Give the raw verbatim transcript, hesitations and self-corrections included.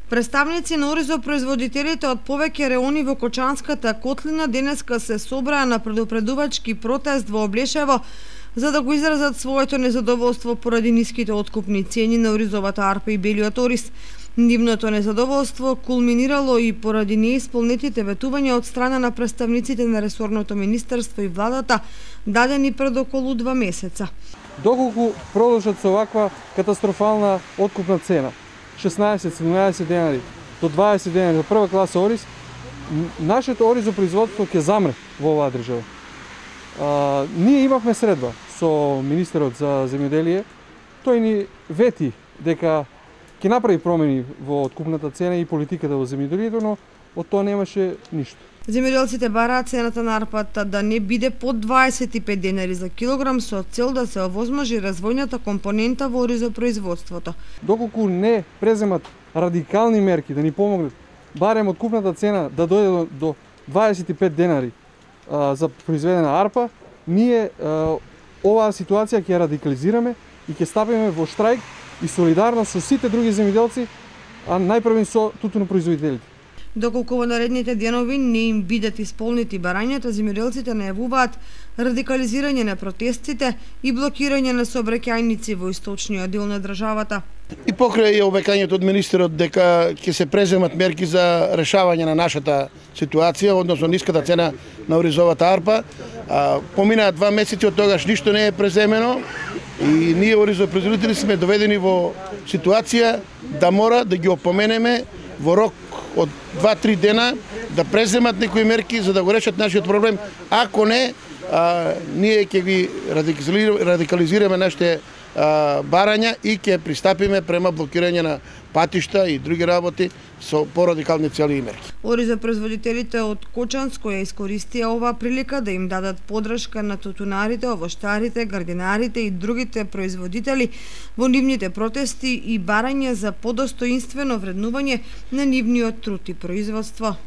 Представници на оризопроизводителите од повеќе реони во Кочанската котлина денеска се собраа на предупредувачки протест во Облешево за да го изразат своето незадоволство поради ниските откупни цени на оризовата арпа и белиот ориз. Нивното незадоволство кулминирало и поради неисполнетите ветувања од страна на представниците на ресорното министерство и владата, дадени пред околу два месеца. Доколку продолжат со оваква катастрофална откупна цена, шеснаесет седумнаесет денари до дваесет денари за прва класа ориз, нашето оризопроизводство ќе замре во оваа држава. А, ние имавме средба со министерот за земјоделие, тој ни вети дека ќе направи промени во откупната цена и политиката во земјоделието, но од тоа немаше ништо. Земјоделците бараат цената на арпата да не биде под дваесет и пет денари за килограм со цел да се овозможи развојната компонента во оризопроизводството. Доколку не преземат радикални мерки да ни помогнат барем откупната цена да дојде до, до дваесет и пет денари а, за произведена арпа, ние а, оваа ситуација ќе ја радикализираме и ќе стапиме во штрајк и солидарно со сите други земјоделци, а најпрвен со тутунопроизводителите. Доколку во наредните денови не им бидат исполнети барањата, земјоделците најавуваат радикализирање на протестите и блокирање на сообраќајници во источниот дел на државата. И покрај обекањето од министерот дека ќе се преземат мерки за решавање на нашата ситуација, односно ниската цена на оризовата арпа, а, поминаа два месеци од тогаш ништо не е преземено и ние оризопроизводители сме доведени во ситуација да мора да ги опоменеме во рок од два-три дена да преземат некои мерки за да го решат нашиот проблем. Ако не, а, ние ќе ги радикализираме нашите а, барања и ќе пристапиме према блокирање на патишта и други работи со порадикални цели и мерки. Оризопроизводителите од Кочанско ја искористија оваа прилика да им дадат подршка на тутунарите, овоштарите, градинарите и другите производители во нивните протести и барање за подостоинствено вреднување на нивниот труд и производство.